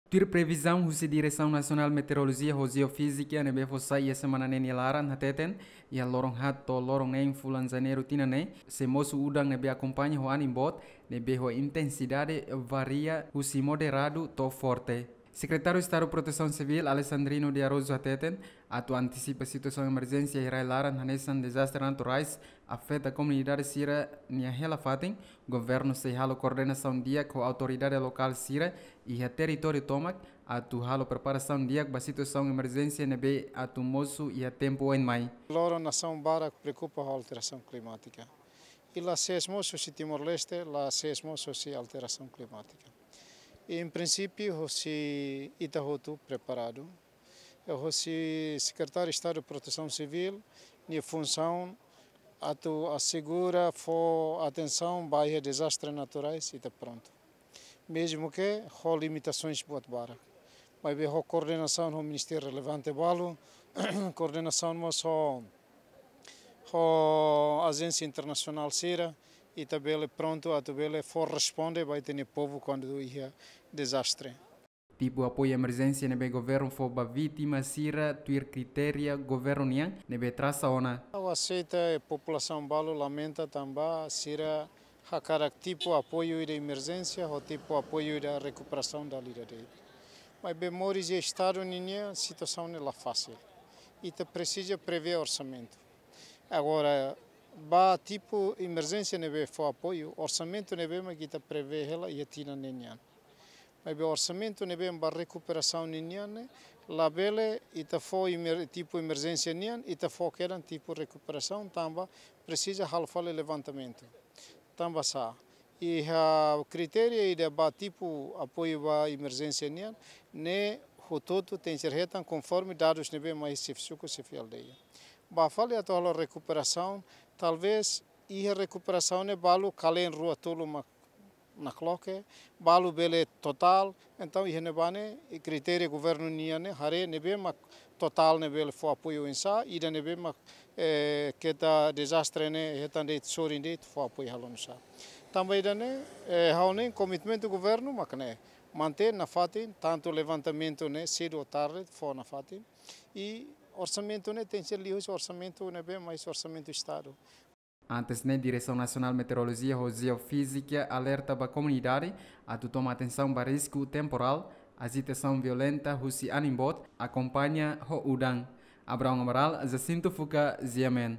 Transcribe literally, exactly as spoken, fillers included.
Tuir previzaun husi Diresaun Nasionál Meteorolojia ho Jeofízika ne'ebé fó sai iha semana ne'e nia laran hateten, iha loron haat to'o loron neen fulan Janeiru tinan ne'e, sei mosu udan ne'ebé akompaña ho anin boot, ne'ebé ho intensidade varia husi moderadu to'o forte. Sekretáriu Estadu Protesaun Sivíl Alexandrino de Araújo hateten, atu antisipa situasaun emerjénsia iha rai-laran hanesan dezastre naturais afeta komunidade sira-nia hela fatin, governu sei halo koordenasaun di'ak ho autoridade lokál sira iha territóriu tomak, atu halo preparasaun di'ak ba situasaun emerjénsia ne'ebé atu mosu iha tempu oin mai. Loron nasaun barak preokupa ho alterasaun klimátika. I la sees mós husi Timor-Leste, la sees mós husi alterasaun klimátika. I, em princípio, husi ita hotu preparadu. E husi Sekretáriu Estadu Protesaun Sivíl, nia funsaun atu asegura fó atensaun ba iha dezastre naturais, ita prontu. Mezmu ke ho limitasoens buat barak. Maibé ho koordenasaun ho ministériu relevante balu, koordenasaun mós ho, ho ajénsia internasionál sira, ita bele prontu atu bele fó responde ba ita-nia povu kuandu iha dezastre. Tipu apoiu emerjénsia ne'ebé governu fó ba vítima sira tuir kritéria governu nian ne'ebé trasa ona. Ha'u aseita, e populasaun balu lamenta tanba sira hakarak tipu apoiu ida emerjénsia ho tipu apoiu ida rekuperasaun dala ida de'it. Maibé moris iha Estadu ninia situasaun ne'e la fasil. Ita presiza prevee orsamentu. Agora, ba tipu emerjénsia ne'ebé fó apoiu, orsamentu ne'ebé mak ita prevee hela iha tinan ne'e nian. Maibé orsamentu ne'ebé ba rekuperasaun ninian ne'e, labele ita fó emer-, tipu emerjénsia nian, ita fó kedan tipu rekuperasaun, tanba presiza halo fali levantamentu. Tanba sá, iha kritéria ida ba tipu apoiu ba emerjénsia nian, ne'e hotu-hotu tenke ser hetan konforme dadus ne'ebé mai xefe suku, xefe aldeia. Ba fali atu halo rekuperasaun, talvés iha rekuperasaun ne'e balu kalen rua tolu mak nakloke, balu bele totál, entaun iha ne'ebá ne'e, i kritéria governu nian ne'e, haree ne'ebé mak totál ne'e bele fó apoiu oinsá, ida ne'ebé mak, eh, keta dezastre ne'e, hetan de'it sorin de'it, fó apoiu halo oinsá. Tanba ida-ne'e, eh, ha'u hanoin komitmentu governu mak ne'e, mantein nafatin, tantu levantamentu ne'e, sedu ou tarde, fó nafatin. I orsamentu ne'e tenke ser liuhusi orsamentu ne'ebé mai husi orsamentu Estadu. Antes ne'e, Diresaun Nasionál Meteorolojia ho Jeofízika alerta ba komunidade atu toma atensaun ba risku temporál, ajitasaun violenta husi anin boot, akompaña ho udan. Abraão Amaral, Jacinto Fuca, G M N.